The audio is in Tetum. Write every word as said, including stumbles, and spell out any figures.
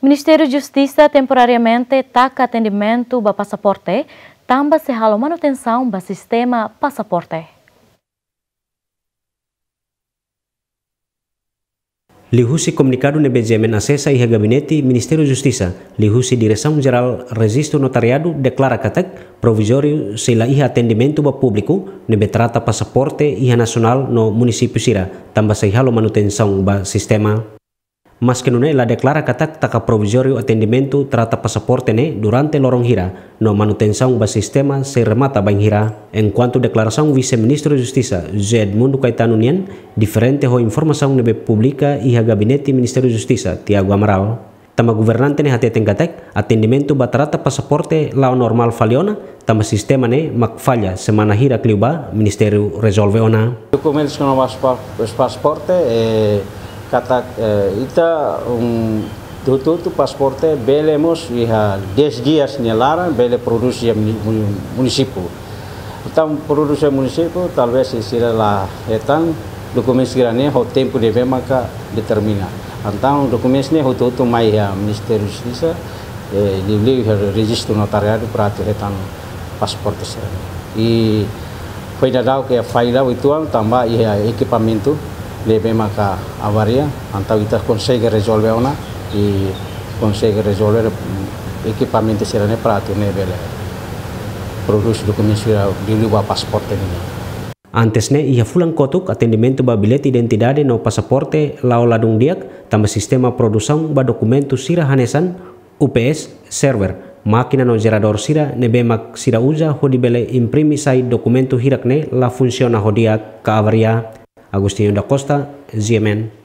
Ministériu Justisa temporariamente taka atendimentu ba pasaporte, tanba sei halo manutensaun ba sistema pasaporte. Liuhusi komunikadu ne'ebé GMN asesa iha Gabinete Ministériu Justisa, liuhusi Diresaun Jerál Rejistu Notariadu deklara katak provizóriu sei la iha atendimentu ba públiku ne'ebé trata pasaporte iha nasionál no munisípiu sira, tanba sei halo manutensaun ba sistema. Maske nune'e la deklara katak taka provizóriu atendimentu trata pasaporte ne'e durante loron hira, no manutensaun ba sistema sei remata bainhira. Enkuantu deklarasaun Vise-Ministru Justisa, José Edmundo Caetano nian, diferente ho informasaun ne'ebé publika iha Gabinete Ministériu Justisa, Tiago Amaral. Tanba governante ne'e hateten katak atendimentu ba trata pasaporte la'o normál fali ona, tanba sistema ne'e mak falla semana hirak liubá, Ministériu rezolve ona. Dokumentus kona-ba pas-, pasaporte, eh, katak, eh, ita, um, hotu-hotu pasaporte bele mós iha dez dias nia laran bele prodús iha muni-, muni-, munisípiu. Entaun prodús iha munisípiu, talvés sira la hetan, dokumentus sira-ne'e ho tempu ne'ebé maka determina. Entaun dokumentus ne'e hotu-hotu mai iha Ministériu Justisa, eh, liuliu iha rejistu notariadu para atu hetan pasaporte sira. I foin daudauk iha falla uitoan tanba iha ekipamentu ne'ebé maka avaria, entaun ita konsege rezolve ona, i konsege rezolve, mm, ekipamentu sira-ne'e para atu nune'e bele prodús dokumentu sira liuliu ba pasaporte nian. Antes ne'e, iha fulan kotuk, atendimentu ba billete identidade no pasaporte la'o ladún di'ak, tanba sistema produsaun ba dokumentu sira hanesan U P S, server, mákina no jeradór sira ne'ebé mak sira uza hodi bele imprime sai dokumentu hirak ne'e la funsiona ho di'ak ka avaria. Agostinho da Costa, GMN.